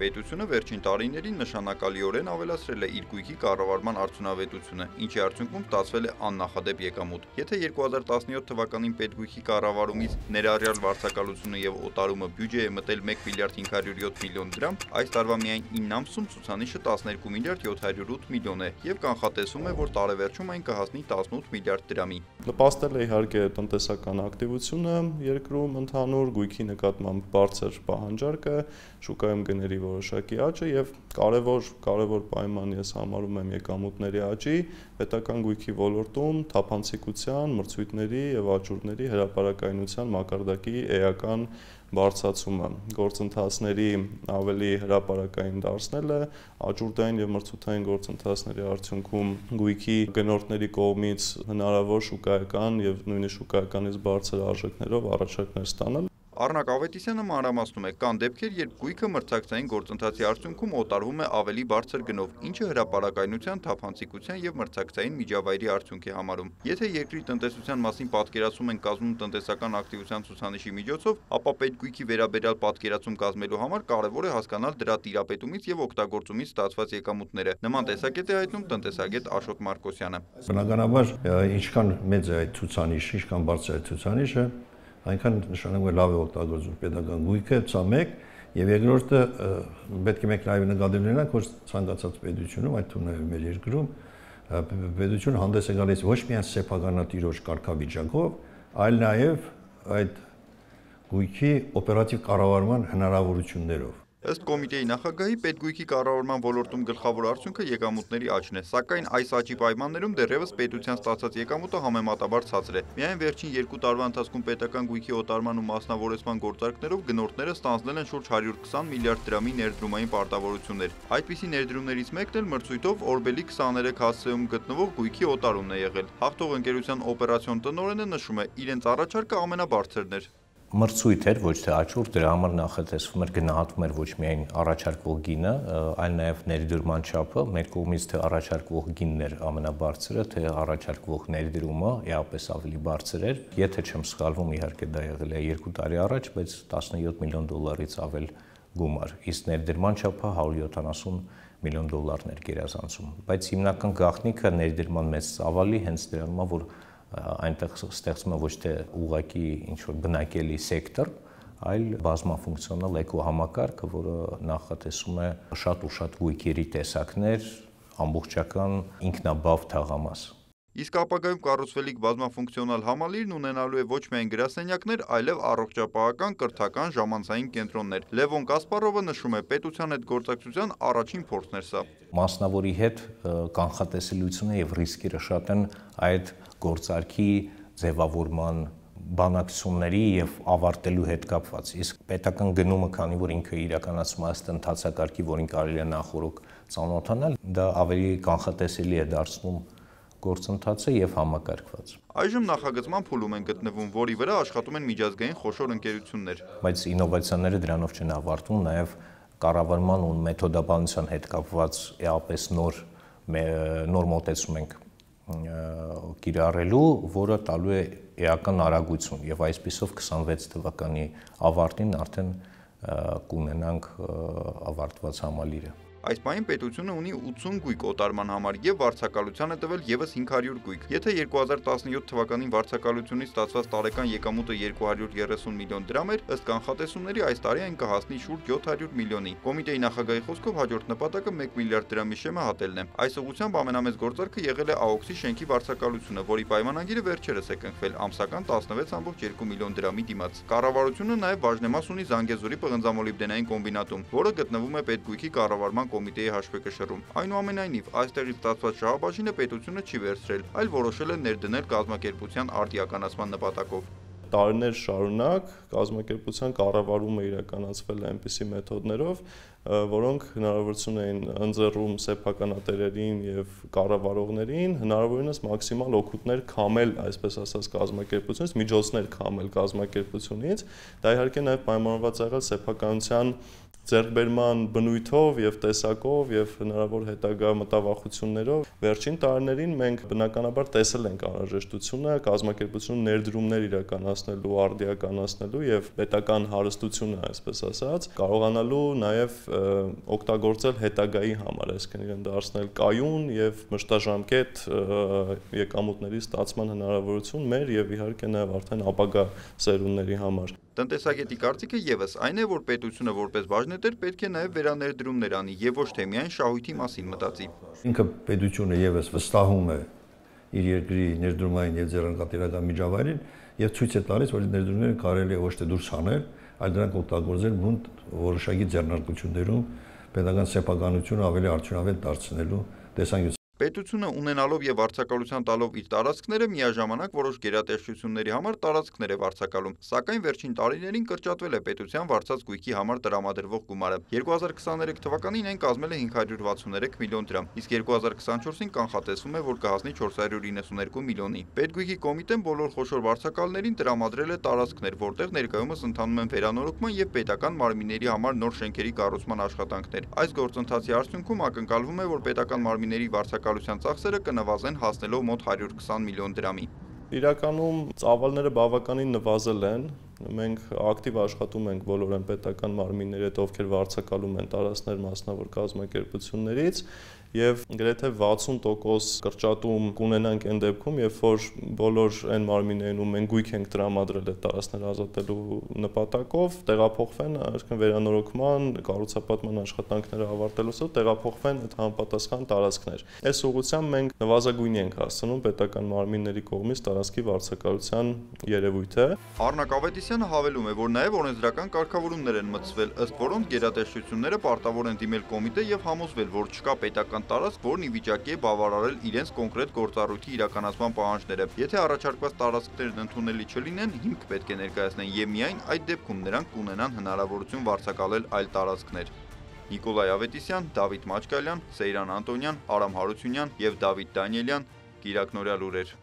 պետությունը վերջին տարիներին նշանակալիորեն ավելացրել է իր գույքի կառավարման արդյունավետությունը, ինչի արդյունքում ստացվել է աննախադեպ եկամուտ։ Եթե 2017 թվականին պետգույքի կառավարումից ներառյալ վարձակալությունը եւ օտարումը բյուջե է մտել 1 միլիարդ 507 միլիոն դրամ, այս տարվա միայն 9 ամսում ցուցանիշը 12 միլիարդ 708 միլիոն է եւ կանխատեսվում է, որ տարեվերջում այն կհասնի 18 միլիարդ դրամի։ Նպաստել է իհարկե տնտեսական ակտիվությունը երկրում ընդհանուր գույքի նկատմամբ բարձր պահանջարկը, շուկայում գների որոշակի աճը եւ կարևոր պայման ես համարում եմ եկամուտների աճի, պետական գույքի ոլորտում թափանցիկության, մրցույթների եւ աճուրդների հրապարակայնության մակարդակի էական բարձրացումը, գործընթացների ավելի հրապարակային դարձնելը, աճուրդային եւ մրցութային գործընթացների արդյունքում գույքի գնորդների կողմից հնարավոր շուկայական եւ նույնիսկ շուկայականից բարձր արժեքներով առաջարկներ ստանալ։ Առնակ Ավետիսյանը մանրամասնում է, կան դեպքեր, երբ գույքը մրցակցային գործընթացի արդյունքում օտարվում է ավելի բարձր գնով, ինչը հրապարակայնության, թափանցիկության եւ մրցակցային միջավայրի արդյունք է համարում։ Եթե երկրի տնտեսության մասին պատկերացում են կազմում տնտեսական ակտիվության ցուցանիշի միջոցով, ապա պետգույքի վերաբերյալ պատկերացում կազմելու համար կարևոր է հասկանալ դրա տիրապետումից եւ օգտագործումից ստացված եկամուտները։ Նման տեսակետ է հայտնում տնտեսագետ Աշոտ Մարկոսյանը։ Բնականաբար, ինչքան մեծ է այդ ցուցանիշը, ինչքան բարձր է ցուցանիշը, այնքան նշանակում է լավ է օգտագործում պետական գույքը, սա մեկ, եւ երկրորդը պետք է մենք նաեւ նկատի ունենանք, որ ցանկացած պետությունում, այդ թվում նաեւ մեր երկրում, պետությունը հանդես է գալիս ոչ միայն սեփականատիրոջ կարգավիճակով, այլ նաեւ այդ գույքի օպերատիվ կառավարման հնարավորություններով։ Ըստ կոմիտեի նախագահի, պետգույքի կառավարման ոլորտում գլխավոր արդյունքը եկամուտների աճն է, սակայն այս աճի պայմաններում դեռևս պետության ստացած եկամուտը համեմատաբար ցածր է։ Միայն վերջին 2 տարվա ընթացքում պետական գույքի օտարման ու մասնավորեցման գործարքներով գնորդները ստանձնել են շուրջ 120 միլիարդ դրամի ներդրումային պարտավորություններ։ Այդպիսի ներդրումներից մեկն էլ մրցույթով Օրբելի 23 հասցեում գտնվող գույքի օտարումն է եղել։ Հաղթող ընկերության օպերացիոն տնօրենը նշում է, իրենց առաջարկը ամենաբարձրն էր։ Մրցույթ էր, ոչ թե աճուրդ, դրա համար նախատեսվում էր գնահատվում էր ոչ միայն առաջարկվող գինը, այլ նաև ներդրման չափը, մեր կողմից թե առաջարկվող գինն էր ամենաբարձրը, թե առաջարկվող ներդրումը էապես ավելի բարձր էր։ Եթե չեմ սխալվում, իհարկե դա եղել է 2 տարի առաջ, բայց 17 միլիոն դոլարից ավել գումար, իսկ ներդրման չափը 170 միլիոն դոլարներ գերազանցում։ Բայց հիմնական գաղտնիքը ներդրման մեծ ծավալի հենց դրանում է, որ այնտեղ ստեղծվում է ոչ թե ուղղակի ինչ-որ բնակելի սեկտոր, այլ բազմաֆունկցիոնալ էկոհամակարգը, որը նախատեսում է շատ ու շատ գույքերի տեսակներ, ամբողջական ինքնաբավ թաղամաս։ Իսկ ապագայում կառուցվելիք բազմաֆունկցիոնալ համալիրն ունենալու է ոչ միայն գրասենյակներ, այլև առողջապահական, կրթական, ժամանցային կենտրոններ։ Լևոն Կասպարովը նշում է, պետության հետ գործակցության առաջին փորձն էր սա։ Մասնավորի հետ կանխատեսելիությունը եւ ռիսկերը շատ են այդ գործարքի ձևավորման բանակցությունների եւ ավարտելու հետ կապված։ Իսկ պետական գնումը, քանի որ ինքը իրականացում է ըստ ընթացակարգի, որին կարելի է նախորոք ծանոթանալ, դա ավելի կանխատեսելի է դարձնում գործընթացը եւ համակարգված։ Այժմ նախագծման փուլում են գտնվում, որի վրա աշխատում են միջազգային խոշոր ընկերություններ։ Բայց ինովացիաները դրանով չեն ավարտվում, նաեւ կառավարման ու մեթոդաբանության հետ կապված էապես նոր մոտեցում ենք կիրառելու, որը տալու է էական արագություն եւ այսպիսով 26 թվականի ավարտին արդեն կունենանք ավարտված համալիրը։ Այս պահին պետությունը ունի 80 գույք օտարման համար եւ վարձակալության է տվել եւս 500 գույք։ Եթե 2017 թվականին վարձակալությունից ստացված տարեկան եկամուտը 230 միլիոն դրամ էր, ըստ կանխատեսումների այս տարի այն կհասնի շուրջ 700 միլիոնի։ Կոմիտեի նախագահի խոսքով հաջորդ նպատակը 1 միլիարդ դրամի շեմը հատելն է։ Այս ուղղությամբ ամենամեծ գործարքը եղել է ԱՕՔՍ-ի շենքի վարձակալությունը, որի պայմանագիրը վերջերս է կնքվել ամսական 16.2 միլիոն դրամի դիմաց։ Կառավարությունը նաեւ բաժնեմաս ունի Զանգեզուրի պղնձամոլիբդենային կոմբինատում, որը գտնվում է պետգույքի կառավարման կոմիտեի հաշվեկշռում։ Այնուամենայնիվ, այստեղից ստացված շահաբաժինը պետությունը չի վերցրել, այլ որոշել է ներդնել կազմակերպության արդիականացման նպատակով։ Տարիներ շարունակ կազմակերպության կառավարումը իրականացվել է այնպիսի մեթոդներով, որոնք հնարավորություն էին ընձեռում սեփականատերերին եւ կառավարողներին հնարավորինս մաքսիմալ օգուտներ քամել, այսպես ասած, կազմակերպությունից, միջոցներ քամել կազմակերպությունից։ Դա իհարկե նաեւ պայմանավորված եղել սեփականության ձեռքբերման բնույթով եւ տեսակով եւ հնարավոր հետագա մտավախություններով վերջին տարիներին մենք բնականաբար տեսել ենք անհրաժեշտությունը կազմակերպություն ներդրումներ իրականացնելու, արդիականացնելու եւ պետական հարստությունը, այսպես ասած, կարողանալու նաեւ օգտագործել հետագայի համար, այսինքն իրեն դարձնել կայուն եւ մշտաժամկետ եկամուտների ստացման հնարավորություն մեր եւ իհարկե նաեւ արդեն ապագա սերունդների համար։ Տնտեսագետի կարծիքը եւս այն է, որ պետությունը որպես բաժնետեր պետք է նաեւ վերաներդրումներ անի եւ ոչ թե միայն շահույթի մասին մտածի։ Ինքը պետությունը եւս վստահում է իր երկրի ներդրումային եւ ձեռնարկատիրական միջավայրին եւ ցույց է տալիս, որ ներդրումները կարելի է ոչ թե դուրս հանել, այլ դրանք օգտագործել բուն որոշակի ձեռնարկություններում պետական սեփականությունը ավելի արդյունավետ դարձնելու տեսանկյունից։ Պետությունը ունենալով եւ վարձակալության տալով իր տարածքները միաժամանակ որոշ գերատեսչությունների համար տարածքներ է վարձակալում, սակայն վերջին տարիներին կրճատվել է պետության վարձած գույքի համար տրամադրվող գումարը։ 2023 թվականին այն կազմել է 563 միլիոն դրամ, իսկ 2024-ին կանխատեսվում է, որ կհասնի 492 միլիոնի։ Պետգույքի կոմիտեն բոլոր խոշոր վարձակալներին տրամադրել է տարածքներ, որտեղ ներկայումս ընթանում են վերանորոգման եւ պետական մարմինների համար նոր շենքերի կառուցման աշխատանքներ։ Այս գործընթացի արդյունքում ակնկալվում է, որ պետական մարմինների վարձակալության ծախսերը կնվազեն հասնելով մոտ 120 միլիոն դրամի։ Իրականում ծավալները բավականին նվազել են։ Մենք ակտիվ աշխատում ենք բոլոր այն պետական մարմինների հետ, ովքեր վարձակալում են տարածքներ մասնավոր կազմակերպություններից եւ գրեթե 60% կրճատում կունենանք այն դեպքում, երբ որ բոլոր այն մարմիններին, ում մենք գույք ենք տրամադրել այդ տարածքները ազատելու նպատակով, տեղափոխվեն, այսինքն վերանորոգման, կառուցապատման աշխատանքները ավարտելուց հետո տեղափոխվեն այդ համապատասխան տարածքներ։ Այս ուղղությամբ մենք նվազագույնի ենք հասցնում պետական մարմինների կողմից տարածքի վարձակալության երևույթը։ Առնակ Ավետիսյանը հավելում է, որ նաև օրենսդրական կարգավորումներ են մտցվել, ըստ որոնց գերատեսչությունները պարտավոր են դիմել կոմիտե եւ համոզվել, որ չկա պետական տարածք, որն ի վիճակի է բավարարել իրենց կոնկրետ գործառույթի իրականացման պահանջները։ Եթե առաջարկված տարածքներն ընդունելի չլինեն, հիմք պետք է ներկայացնեն եւ միայն այդ դեպքում նրանք կունենան հնարավորություն վարձակալել այլ տարածքներ։ Նիկոլայ Ավետիսյան, Դավիթ Մաչկալյան, Սեյրան Անտոնյան, Արամ Հարությունյան եւ Դավիթ Դանիելյան, Կիրակնորյալ լուրեր։